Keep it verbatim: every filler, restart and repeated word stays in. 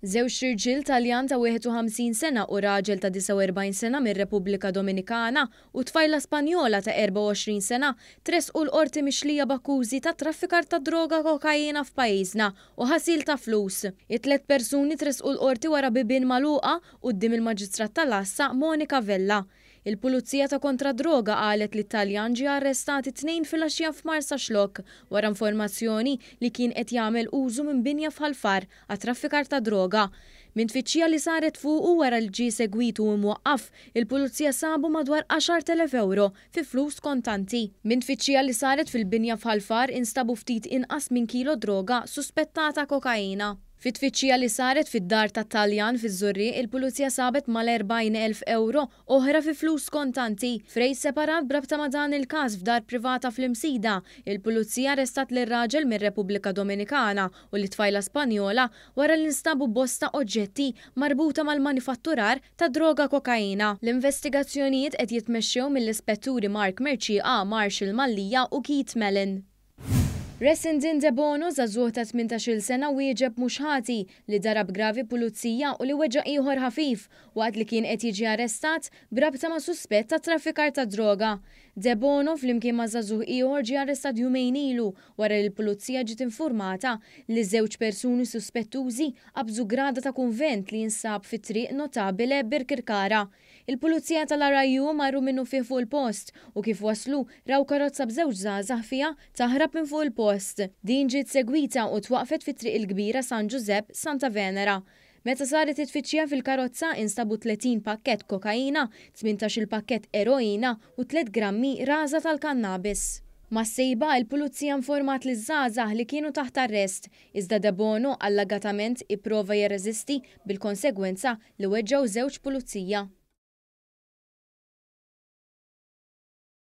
Żewġ irġiel, Taljan ta' wieħed u ħamsin sena u raġel ta' disgħa u erbgħin sena mir-Repubblika Dominikana u tfajla Spanjola ta' erbgħa u għoxrin sena, tressqu l-qorti mixlija b'akkużi ta' traffikar ta' droga kokaina f'pajjiżna u ħasil ta' flus. It-tlet persuni tressqu l-qorti wara bibien magħluqa quddiem il-Maġistrat tal-Għassa Monica Vella. Il-Pulizija ta' kontra droga qalet li t-Taljan ġie arrestat it-Tnejn filgħaxija f'Marsaxlokk wara informazzjoni li kien qed jagħmel użu minn binja f'Ħal Far għat-traffikar ta' droga. Minn tfittxija li saret fuqu wara li ġie segwitu imwaqqaf, il-Pulizija sabu madwar għaxart elef euro fi flus kontanti. Minn tfittxija li saret fil-binja f'Ħal Far instabu ftit inqas minn kilo droga suspettata kokaina. Fit-tfittxija li saret fid-dar ta' Taljan fiż-Żurrieq, il-Pulizija sabet mal-erbgħin elf euro oħra fi flus kontanti. F'rejd separat brabta ma' dan il-każ f'dar privata fl-Imsida, il-Pulizija arrestat lir-raġel mir-Repubblika Dominikana u lit-tfajla Spanjola wara li nstabu bosta oġġetti marbuta mal-manifatturar ta' droga kokaina. L-investigazzjonijiet qed jitmexxew mill-ispetturi Mark Mercieca, Marshall Mallia u Keith Mellon. Resendin Debono, żagħżugħ ta' tmintax-il sena, wieġeb mhux ħati li darab gravi pulizija u li weġġa' ieħor ħafif waqt li kien qed jiġi arrestat brabta ma' suspett ta' traffikar ta' droga. Debono flimkien ma' żagħżugħ ieħor ġie arrestat jumejn ilu wara li l-pulizija ġiet informata li żewġ persuni suspettużi qabżu grada ta' kunvent li jinsab fi Triq Notabile, Birkirkara. Il-Pulizija tal-R I U marru minnufih fuq il-post u kif waslu raw karozza b'żewġ żgħażagħ fiha taħrab minn fuq il-post. Din ġiet segwita u twaqfet fi Triq il-Kbira San Giuseppe, Santa Venera. Meta saret it-tfittxija fil-karozza instabu tletin pakket kokaina, tmintax-il pakket eroina u tliet grammi raża tal-kannabis. Mas-sejba, il-Pulizija informat liż-żgħażagħ li kienu taħt arrest, iżda Debono allegatament ipprova jirreżisti bil-konsegwenza li weġġaw żewġ pulizija.